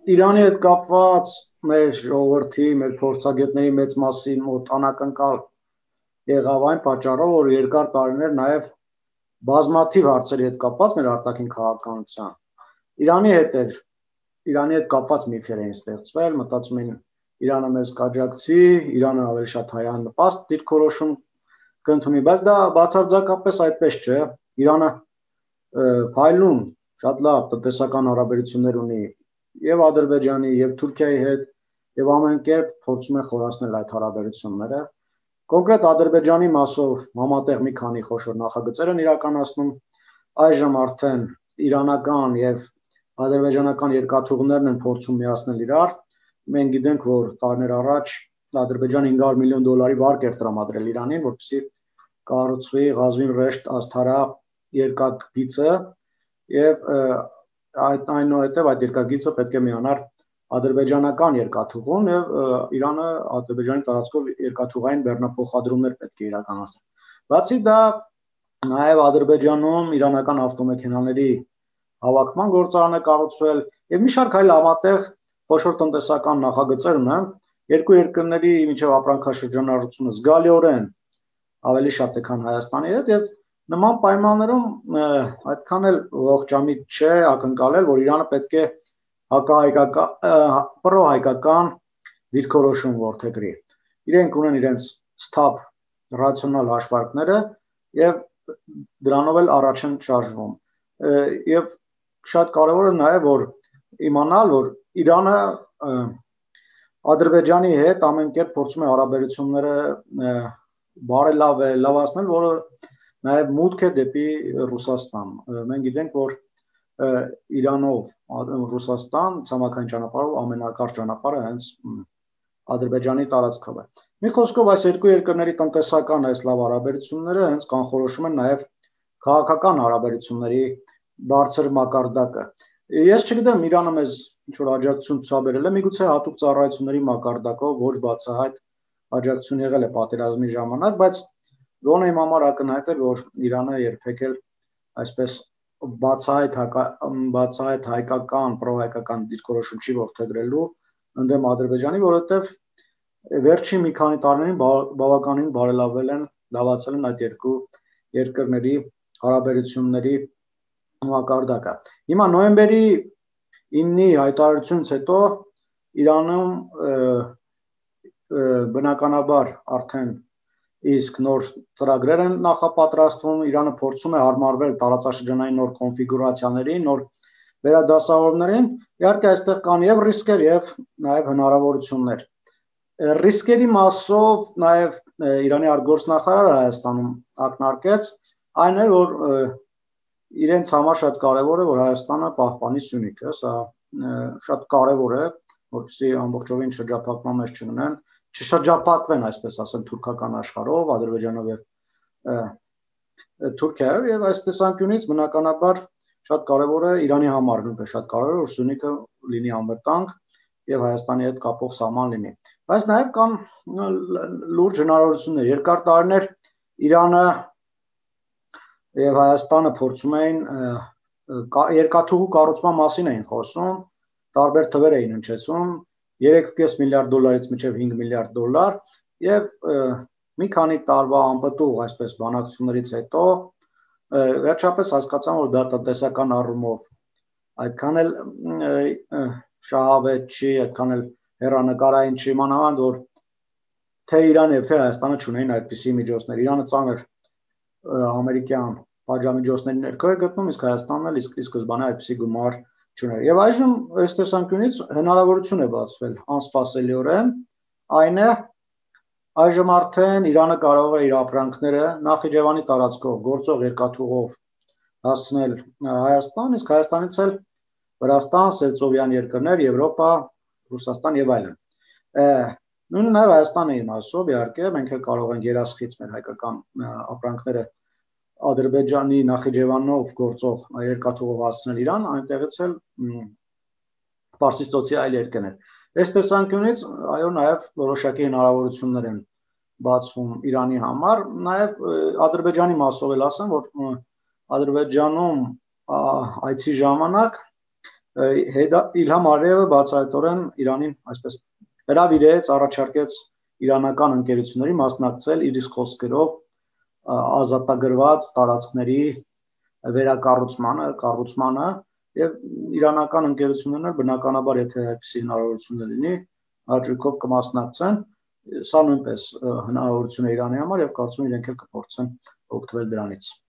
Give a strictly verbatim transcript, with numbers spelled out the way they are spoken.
Իրանի հետ կապված մեր ժողովրդի, մեր փորձագետների մեծ մասի մոտ անակնկալ եղավ այն պատճառով, որ երկար տարիներ նաև բազմաթիվ հարցերի հետ կապված մեր արտաքին քաղաքականության Իրանի հետ էր, Իրանի հետ կապված միֆեր էին ստեղծվել, մտածում էին Իրանը մեզ կաջակցի, Իրանը ավելի շատ հայան նպաստ դիրքորոշում կընդունի, բայց դա բացարձակապես այդպես չէ, Իրանը փայլուն, շատ լավ տնտեսական հարաբերություններ ունի եւ Ադրբեջանի, եւ Թուրքիայի հետ, եւ ամեն կերպ փորձում է խորացնել այդ հարաբերությունները։ Կոնկրետ Ադրբեջանի մասով համատեղ մի քանի խոշոր նախագծեր են իրականացնում, այժմ արդեն իրանական եւ ադրբեջանական երկաթուղներն են փորձում միացնել իրար։ Մենք գիտենք, որ տարիներ առաջ Ադրբեջանը հինգ հարյուր միլիոն դոլարի վարկ էր տրամադրել Իրանին, որպեսզի կառուցվի Ղազվին Ռեշտ Ասթարա երկաթգիծը եւ այդ այնուհետև այդ երկաթգիծը պետք է միանար ադրբեջանական երկաթուղուն եւ Իրանը Ադրբեջանի տարածքով երկաթուղային բեռնափոխադրումներ պետք է իրականացնի։ Բացի դա նաեւ Ադրբեջանում իրանական ավտոմեքենաների հավաքման գործարան է կառուցվել եւ մի շարք այլ համատեղ խոշոր տնտեսական նախագծեր ունեն, երկու երկրների միջև ապրանքաշրջանառությունը զգալիորեն ավելի շատ է, քան Հայաստանի հետ եւ նման պայմաններում այդքան էլ ողջամիտ չէ ակնկալել, որ Իրանը պետք է հակահայկական պրոհայկական դիրքորոշում որդեգրի։ Իրենք ունեն իրենց սթափ ռացիոնալ հաշվարկները եւ դրանով էլ առաջ են շարժվում։ Եվ շատ կարևոր է նաեւ որ իմանալ, որ Իրանը Ադրբեջանի հետ ամեն կերպ փորձում է հարաբերությունները բարելավել, լավացնել, որը նաեւ մուտք է դեպի Ռուսաստան։ Մենք գիտենք, որ Իրանով Ռուսաստան ցամաքային ճանապարհով ամենակարճ ճանապարհը հենց Ադրբեջանի տարածքով է։ Մի խոսքով այս երկու երկրների տնտեսական այս լավ հարաբերությունները հենց կանխորոշում են նաեւ քաղաքական հարաբերությունների բարձր մակարդակը։ Ես չգիտեմ Իրանը մեզ ինչ-որ աջակցություն ցուցաբերել է, միգուցե հատուկ ծառայությունների մակարդակով ոչ բացահայտ աջակցություն եղել է պատերազմի ժամանակ, բայց գոնե իմ համար ակնհայտ է, որ Իրանը երբեք էլ այսպես բացահայտ բացահայտ հայկական, պրոհայկական դիրքորոշում չի որդեգրելու ընդդեմ Ադրբեջանի, որովհետև վերջին մի քանի տարիներին բավականին բարելավել են, լավացել են այդ երկու երկրների հարաբերությունների մակարդակը։ Հիմա նոյեմբերի իննի հայտարարությունից հետո Իրանում բնականաբար արդեն իսկ նոր ծրագրեր են նախապատրաստվում, Իրանը փորձում է հարմարվել տարածաշրջանային նոր կոնֆիգուրացիաներին, նոր վերադասավորումներին, իհարկե այստեղ կան եւ ռիսկեր եւ նաեւ հնարավորություններ։ Ռիսկերի մասով նաեւ Իրանի արտգործնախարարը Հայաստանում ակնարկեց այն է, որ իրենց համար շատ կարևոր է, որ Հայաստանը պահպանի Սյունիքը, սա շատ կարևոր է, որպեսզի ամբողջովին շրջափակման մեջ չգնան, չշրջափակվեն, այսպես ասեմ, թուրքական աշխարհով, Ադրբեջանով եւ Թուրքիայով եւ այս տեսանկյունից բնականաբար շատ կարևոր է Իրանի համար, նույնպես շատ կարևոր է, որ Սյունիքը լինի անվտանգ եւ Հայաստանի հետ կապող սահման լինի։ Բայց նաեւ կան լուրջ հնարավորություններ։ Երկար տարիներ Իրանը եւ Հայաստանը փորձում էին երկաթուղու կառուցման մասին էին խոսում, տարբեր թվեր էին հնչեցում, երեք կես միլիարդ դոլարից մինչև հինգ միլիարդ դոլար եւ մի քանի տարվա անպտուղ այսպես բանակցություններից հետո վերջապես հասկացան, որ դա տնտեսական առումով այդքան էլ շահավետ չի, այդքան էլ հեռանկարային չի, մանավանդ որ թե Իրանը եւ թե Հայաստանը չունեին այդպիսի միջոցներ։ Իրանը ծանր ամերիկյան պատժամիջոցների ներքո է գտնում, իսկ Հայաստանն էլ իսկ սկզբանե այդպիսի գումար չուներ։ Եվ այժմ այս տեսանկյունից հնարավորություն է բացվել անսպասելիորեն, այն է այժմ արդեն Իրանը կարող է իր ապրանքները Նախիջևանի տարածքով գործող երկաթուղով հասցնել Հայաստան, իսկ Հայաստանից էլ Վրաստան, Սերծովյան երկրներ, Եվրոպա, Ռուսաստան եւ այլն։ Նույնը նաեւ Հայաստանի մասով իհարկե մենք էլ կարող ենք երասխից մեր հայկական ապրանքները Ադրբեջանի Նախիջևանով գործող երկաթուղով հասցնել Իրան, այնտեղից էլ Պարսից ծոցի այլ երկրներ։ Այս տեսանկյունից այո նաև որոշակի հնարավորություններ են բացվում Իրանի համար, նաև Ադրբեջանի մասով էլ ասեմ, որ Ադրբեջանում այցի ժամանակ Իլհամ Ալիևը բացահայտորեն Իրանին այսպես հրավիրեց, առաջարկեց իրանական ընկերությունների մասնակցել իր իսկ խոսքերով ազատագրված տարածքների վերակառուցմանը, կառուցմանը եւ իրանական ընկերություններն բնականաբար եթե այդպիսի հնարավորություն լինի, հաճույքով կմասնակցեն, սա նույնպես հնարավորություն է Իրանի համար եւ կարծում եմ իրենք էլ կփորձեն օգտվել դրանից։